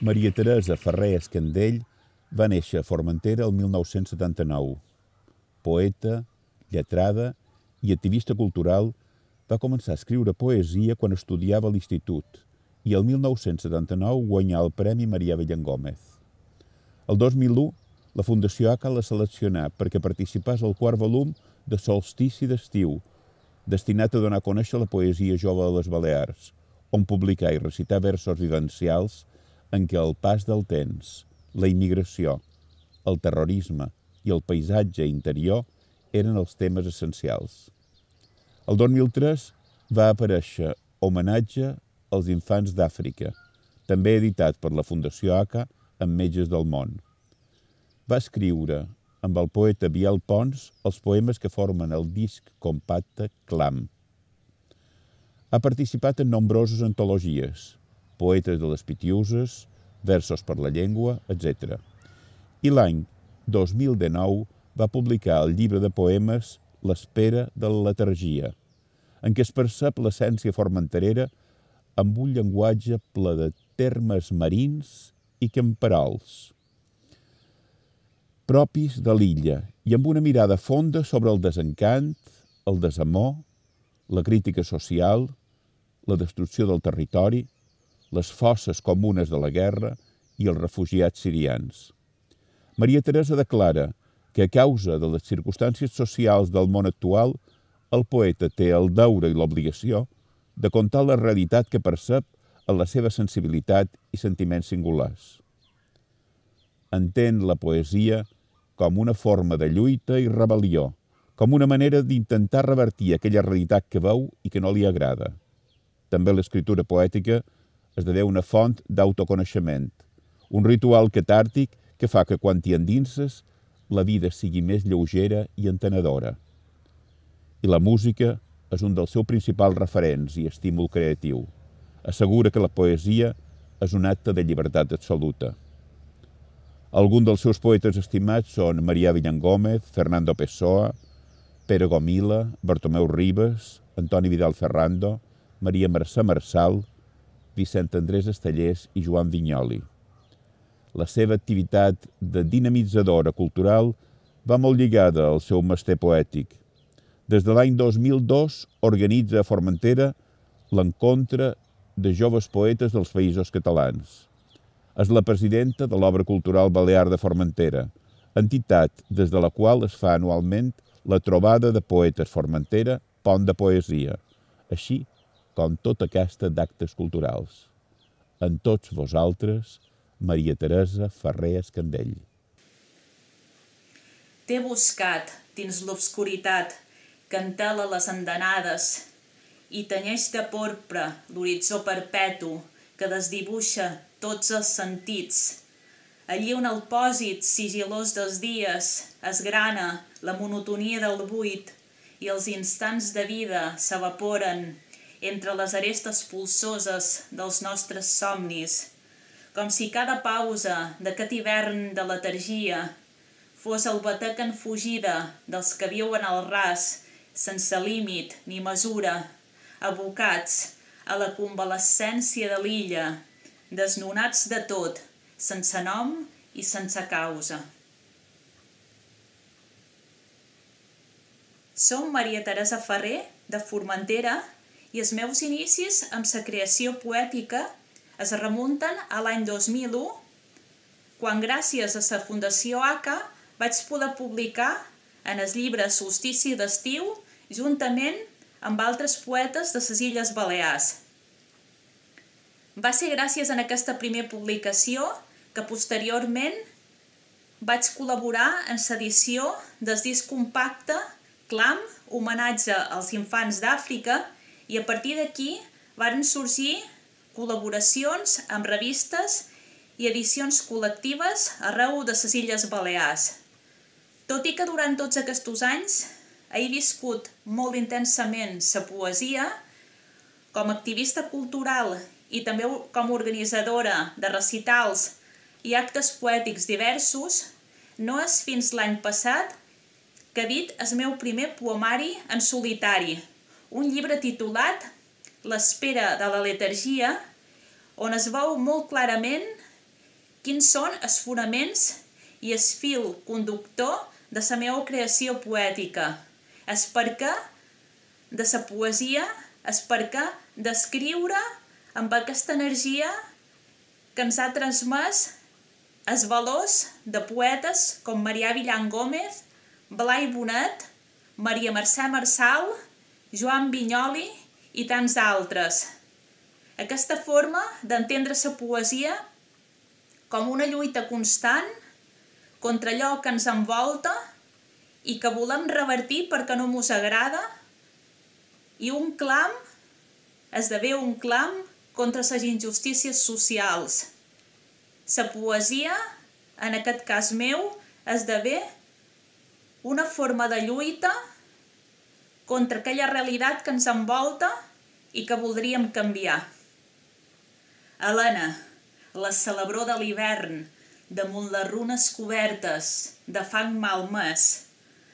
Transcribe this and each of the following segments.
Maria Teresa Ferrer Escandell va néixer a Formentera el 1979. Poeta, lletrada i activista cultural, va començar a escriure poesia quan estudiava a l'institut i el 1979 guanyà el Premi Marià Villangómez. El 2001, la Fundació ACA la seleccionà perquè participàs al quart volum de Solstici d'estiu, destinat a donar a conèixer la poesia jove de les Balears, on publicar i recitar versos vivencials en què el pas del temps, la immigració, el terrorisme i el paisatge interior eren els temes essencials. El 2003 va aparèixer Homenatge als infants d'Àfrica, també editat per la Fundació ACA amb Metges del Món. Va escriure amb el poeta Biel Pons els poemes que formen el disc compacte Clam. Ha participat en nombroses antologies, Poetes de les Pitiuses, Versos per la Llengua, etc. I l'any 2019 va publicar el llibre de poemes L'espera de la letargia, en què es percep l'essència formenterera amb un llenguatge ple de termes marins i camperols, propis de l'illa, i amb una mirada fonda sobre el desencant, el desamor, la crítica social, la destrucció del territori, les fosses comunes de la guerra i els refugiats sirians. Maria Teresa declara que a causa de les circumstàncies socials del món actual, el poeta té el deure i l'obligació de contar la realitat que percep en la seva sensibilitat i sentiments singulars. Entén la poesia com una forma de lluita i rebel·lió, com una manera d'intentar revertir aquella realitat que veu i que no li agrada. També l'escriptura poètica esdevé una font d'autoconeixement, un ritual catàrtic que fa que quan t'hi endinses la vida sigui més lleugera i entenedora. I la música és un dels seus principals referents i estímul creatiu. Assegura que la poesia és un acte de llibertat absoluta. Alguns dels seus poetes estimats són Marià Villangómez, Fernando Pessoa, Pere Gomila, Bartomeu Ribas, Antoni Vidal Ferrando, Maria Mercè Marçal, Vicent Andrés Estellers i Joan Vinyoli. La seva activitat de dinamitzadora cultural va molt lligada al seu mester poètic. Des de l'any 2002 organitza a Formentera l'Encontre de Joves Poetes dels Països Catalans. És la presidenta de l'Obra Cultural Balear de Formentera, entitat des de la qual es fa anualment la trobada de poetes Formentera, Pont de Poesia, així com tota aquesta d'actes culturals. En tots vosaltres, Maria Teresa Ferrer Escandell. T'he buscat dins l'obscuritat que entela les andanades i tenyeix de porpra l'horitzó perpetu que desdibuixa tots els sentits. Allí on el pòsit sigilós dels dies esgrana la monotonia del buit i els instants de vida s'evaporen entre les arestes pulsoses dels nostres somnis, com si cada pausa d'aquest hivern de letargia fos el batec en fugida dels que viuen al ras sense límit ni mesura, abocats a la convalescència de l'illa, desnonats de tot, sense nom i sense causa. Som Maria Teresa Ferrer, de Formentera, i els meus inicis amb la creació poètica es remunten a l'any 2001, quan gràcies a la Fundació ACA vaig poder publicar en el llibre Solstici d'estiu juntament amb altres poetes de les Illes Balears. Va ser gràcies a aquesta primera publicació que posteriorment vaig col·laborar en l'edició del disc compacte Clam, homenatge als infants d'Àfrica, i a partir d'aquí varen sorgir col·laboracions amb revistes i edicions col·lectives arreu de les Illes Balears. Tot i que durant tots aquests anys he viscut molt intensament la poesia, com a activista cultural i també com a organitzadora de recitals i actes poètics diversos, no és fins l'any passat que he dit el meu primer poemari en solitari, un llibre titulat L'espera de la letargia, on es veu molt clarament quins són els fonaments i el fil conductor de la meva creació poètica, el perquè de la poesia, el perquè d'escriure amb aquesta energia que ens ha transmès els valors de poetes com Marià Villan Gómez, Blai Bonet, Maria Mercè Marçal, Joan Vinyoli i tants altres. Aquesta forma d'entendre la poesia com una lluita constant contra allò que ens envolta i que volem revertir perquè no mos agrada, i un clam esdevé un clam contra les injustícies socials. La poesia, en aquest cas meu, esdevé una forma de lluita contra aquella realitat que ens envolta i que voldríem canviar. Helena, la celebró de l'hivern, damunt les runes cobertes de fang malmès,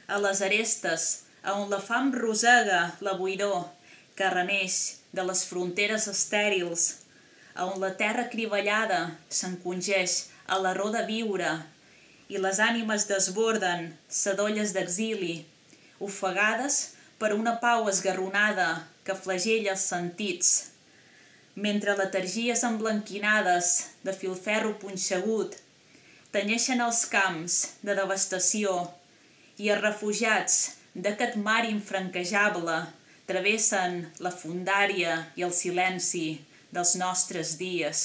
a les arestes on la fam rosega la boiró que reneix de les fronteres estèrils, on la terra crivellada s'encongeix a l'arró de viure i les ànimes desborden sedolles d'exili, ofegades per una pau esgarronada que flagella els sentits, mentre letargies emblanquinades de filferro punxegut tenyeixen els camps de devastació i els refugiats d'aquest mar infranquejable travessen la fondària i el silenci dels nostres dies.